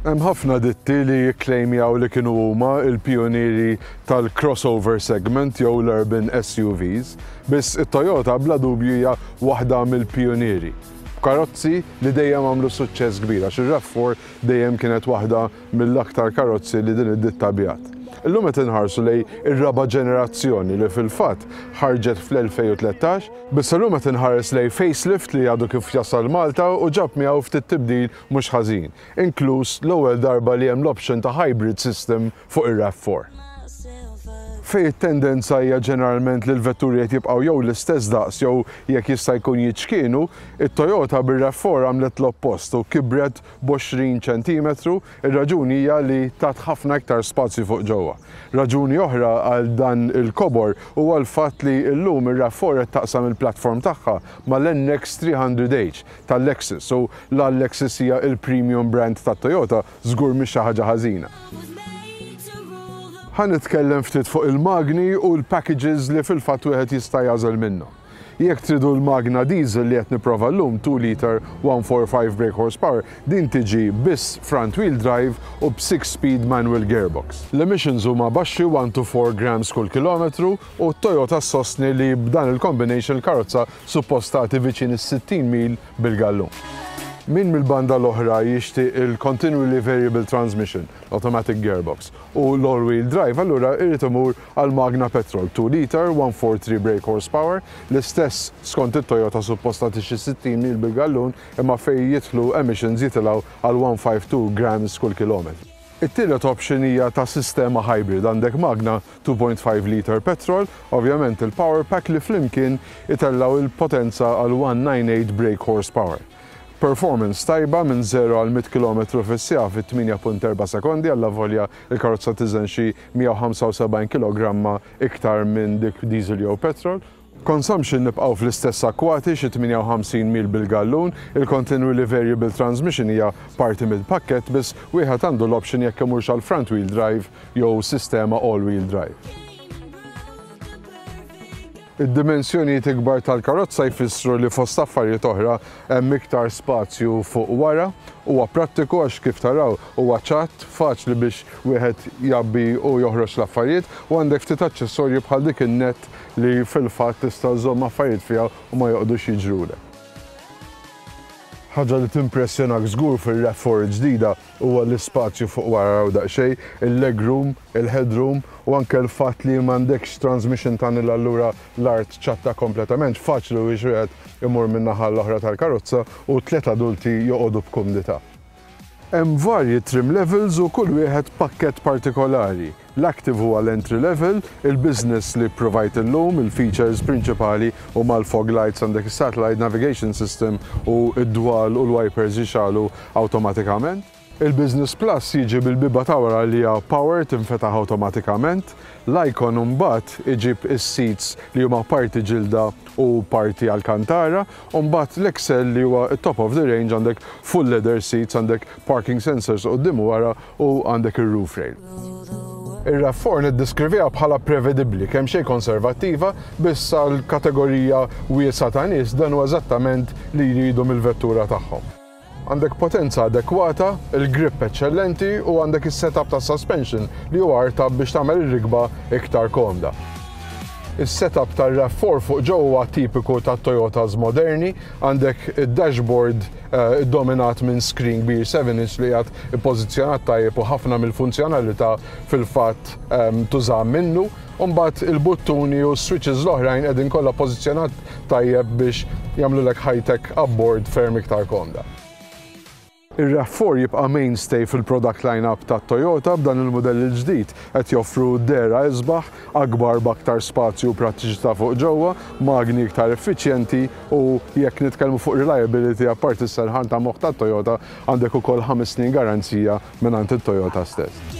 Hemm ħafna ditti li jikklejmjaw li kienu huma l-pijunieri tal-crossover segment jew l-urban SUVs, biss it-Toyota bla dubju hija waħda mill-pijunieri. B'karozzi li dejjem għamlu suċċess kbir għax ir-RAV4 dejjem kienet waħda mill-aktar karozzi li din id-ditta biegħet. Illum qed inħarsu lejn ir-raba' ġenerazzjoni li fil-fatt ħarġet fl-2013, biss illum qed inħares lejn facelift li għadu kif jasal Malta u ġab miegħu ftit tibdil mhux ħażin, inkluż l-ewwel darba li hemm l-option ta' hybrid system fuq ir-RAV4. Fejn it-tendenza hija ġeneralment li l-vetturi qed jibqgħu jew l-istess daqs jew jekk jista' jkun jiċkienu, it-Toyota bir-RAV4 għamlet l-oppost u kibret b'20 ċentimetru, ir-raġuni hija li tat ħafna iktar spazju fuq ġewwa. Raġuni oħra għal dan il-kobor huwa l-fatt li llum ir-RAV4 qed taqsam il-platform tagħha mal-NX 300h tal-Lexus u la l-Lexus hija l-premium brand tat-Toyota żgur mhix xi ħaġa ħażina. Ħa nitkellem ftit fuq il-magni u l-packages li fil-fatt wieħed jista' jagħżel minnhom. Jekk tridu l-magna diesel li qed nipprova llum, 2 litre 145 brake horsepower, din tiġi biss front wheel drive u b' 6 speed manual gearbox. L-emissions huma baxxi 1 to 4 grams kull kilometru u Toyota ssostni li b'dan il-combination il-karozza suppost tagħti viċin is-60 mil bil-gallun. Min mill-banda l-oħra jixtieq il-continually variable transmission, automatic gearbox, u l-all wheel drive allura irid imur għal magna petrol 2 liter 143 brake horsepower, l-istess skont it-Toyota suppost tagħti xi 60 mil bil-gallun imma fejn jidħlu emissions jitilgħu għal 152 grams kull kilometru. It-tielet option hija ta' sistema hybrid, għandek magna 2.5 liter petrol, ovvjament il-power pack li flimkien itellgħu il-potenza għal 198 brake horsepower. Performance tajba minn 0 għal 100 km fis-siegħa fi 8.4 sekondi allavolja il-karozza tiżen xi 175 kg iktar minn dik diesel jew petrol. Consumption nibqgħu fl-istess akkwati xi 58 mil bil-gallun, il-continually variable transmission hija parti mill-pakkett biss wieħed għandu l-option jekk imurx għal front wheel drive jew sistema all wheel drive. Id-dimensjonijiet ikbar tal-karozza jfissru li fost affarijiet oħra hemm iktar spazju fuq wara, huwa prattiku għax kif taraw huwa ċatt, faċli biex wieħed jgħabbi u joħroġ l-affarijiet u għandek ftit aċċessorji bħal dik in-net li fil-fatt tista' żżomm affarijiet fiha u ma joqogħdux jiġrulek. Ħaġa li timpressjonak żgur fir-RAV4 ġdida huwa l-ispazju fuq wara raw daqsxejn, il-legroom, il-headroom u anke l-fatt li m'għandekx transmission tunnel allura l-art ċatta kompletament, faċli biex wieħed imur min-naħa l-oħra tal-karozza u tliet adulti joqogħdu b'kumdità. Hemm varji trim levels u kull wieħed pakkett partikolari. L-Active huwa l-entry level, il-Business li provajt illum, il-features prinċipali huma l-fog lights, għandek is-satellite navigation system u d-dwal u l-wipers jixgħalu awtomatikament. Il-Business Plus jiġi bil-bieba ta' wara li hija power tinfetaħ awtomatikament. L-Icon imbagħad iġib is-seats li huma parti ġilda u parti alcantara, u mbagħad l-Excel li huwa t-top of the range għandek full leather seats, għandek parking sensors quddiem u wara u għandek ir-roof rail. Ir-RAV4 niddeskriviha bħala prevedibbli, kemm xejn konservattiva, biss għal kategorija wiesgħa ta' nies dan huwa eżattament li jridu mill-vettura tagħhom. Għandek potenza adekwata, il-grip eċċellenti u għandek is-setup ta' suspension li huwa artab biex tagħmel ir-rikba iktar komda. Is-setup tar-RAV4 fuq ġewwa huwa tipiku ta' Toyotas moderni, għandek id-dashboard eh, dominat minn screen kbir 7 inch li qiegħed ippożizzjonat tajjeb u ħafna mill-funzjonalità fil-fatt ehm, tuża minnu. U mbagħad il-buttuni u s-switches l-oħrajn qegħdin kollha pożizzjonat tajjeb biex jagħmlulek ħajtek abbord ferm iktar komda. Ir-RAV4 jibqa' mainstay fil-product line-up ta' Toyota b'dan il-mudell il-ġdid qed joffru dehra isbaħ, akbar b'aktar spazju u prattiċità fuq ġewwa, magni iktar effiċjenti u jekk nitkellmu fuq reliability apparti s-serħan ta' moħħ ta' Toyota għandek ukoll 5 snin garanzija mingħand it-Toyota stess.